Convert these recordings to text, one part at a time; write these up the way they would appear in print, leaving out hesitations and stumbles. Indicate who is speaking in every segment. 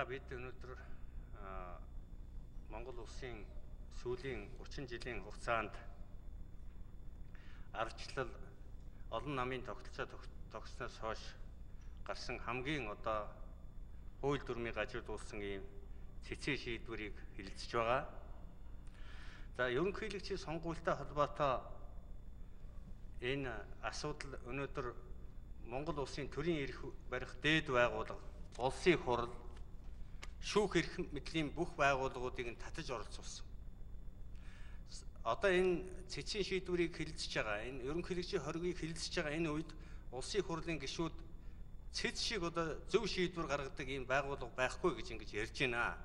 Speaker 1: Бид өнөөдөр Монгол улсын сүүлийн 30 жилийн хугацаанд ардчлал олон намын тогтолцоо тогтсноос хойш гарсан хамгийн хууль дүрмийг гажуудуулсан ийм цэцэн шийдвэрийг хэлэлцэж байгаа. За ерөнхийлөгчийн сонгуультай холбоотой энэ асуудал өнөөдөр Монгол улсын төрийн эрх барих дээд байгууллага, улсын хурал, шүүх эрх мэдлийн бүх байгууллагуудыг татаж оролцуулсан. Одоо энэ цэцэн шийдвэрийг хэлэлцэж байгаа, энэ ерөнхийлөгчийн хоргийг хэлэлцэж байгаа энэ үед улсын хурлын гишүүд цэц шиг зөв шийдвэр гаргадаг ийм байгууллага байхгүй гэж ингэж ярьж байна.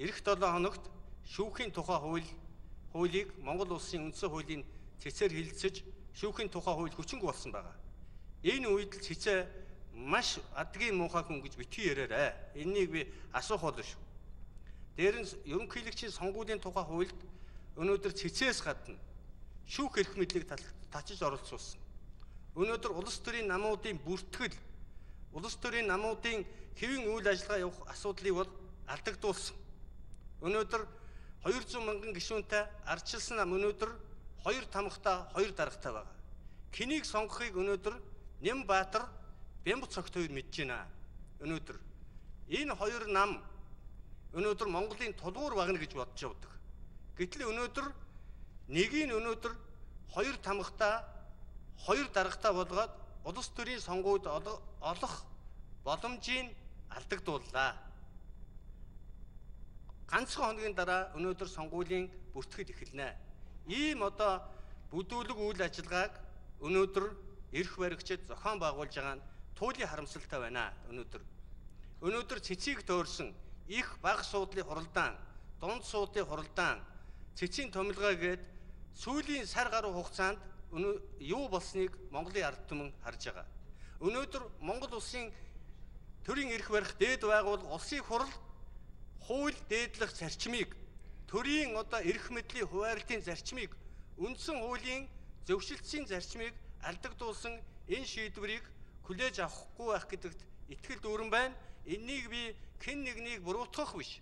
Speaker 1: Ирэх 7 хоногт шүүхийн тухай хуулийг Монгол улсын үндсэн хуулийн цэцээр хэлэлцэж шүүхийн тухай хууль хүчинг болсон байгаа. Энэ үед л цэцээ маш адгийн муухай хүн гэж битгий яриарай. Энийг би асуух болно шүү. Дээр нь ерөнхийлөгчийн сонгуулийн тухай хуульд өнөөдөр цэцээс гадна шүүх эрх мэдлийг татаж оролцуулсан. Өнөөдөр улс төрийн намуудын бүртгэл, улс төрийн намуудын хэвийн үйл ажиллагаа явах асуудлыг бол алдагдуулсан. Өнөөдөр 200 мянган гишүүнтэй ардчилсан нам өнөөдөр 2 тамхтай 2 даргатай байгаа. Хэнийг сонгохыг өнөөдөр Нямбаатар, Бямбцогт хоёр мэдж байна. Өнөөдөр энэ 2 нам өнөөдөр Монголын тулгуур багна гэж бодож явдаг. Гэтэл өнөөдөр нэгийг өнөөдөр 2 тамхтай 2 даргатай болгоод улс төрийн сонгуульд олох боломжийг алдагдууллаа. Ганцхан хоногийн дараа өнөөдөр сонгуулийн бүртгэл эхэлнэ. Ийм бүдүүлэг үйл ажиллагааг өнөөдөр эрх баригчид зохион байгуулж байгаа нь туйлын харамсалтай байна. Өнөөдөр цэцийг төөрсөн их бага суудлын хуралдаан, дунд суудлын хуралдаан, цэцийн томилгоо гээд сүүлийн сар гаруй хугацаанд юу болсныг Монголын ард түмэн харж байгаа. Өнөөдөр Монгол улсын төрийн эрх барих дээд байгууллага улсын хурал хууль дээдлэх зарчмыг, төрийн эрх мэдлийн хуваарлтын зарчмыг, үндсэн хуулийн зөвшөлтсийн зарчмыг алдагдуулсан энэ шийдвэрийг хүлээж авахгүй байх гэдэгт итгэл дүүрэн байна. Энийг би хэн нэгнийг буруутгах биш.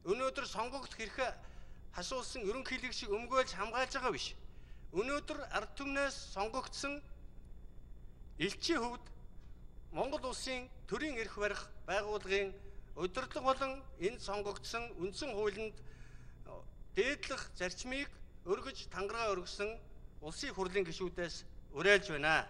Speaker 1: Өнөөдөр сонгогдох хэрэг хасуулсан ерөнхийлөгчийг өмгөөлж хамгаалж байгаа биш. Өнөөдөр ард түмнээс сонгогдсон элчийн хөвд Монгол улсын төрийн эрх барих байгууллагын удирдлага болон энэ сонгогдсон үндсэн хуулинд дээдлэх зарчмыг өргөж тангараа өргөсөн улсын хурлын гишүүдээс уриалж байна.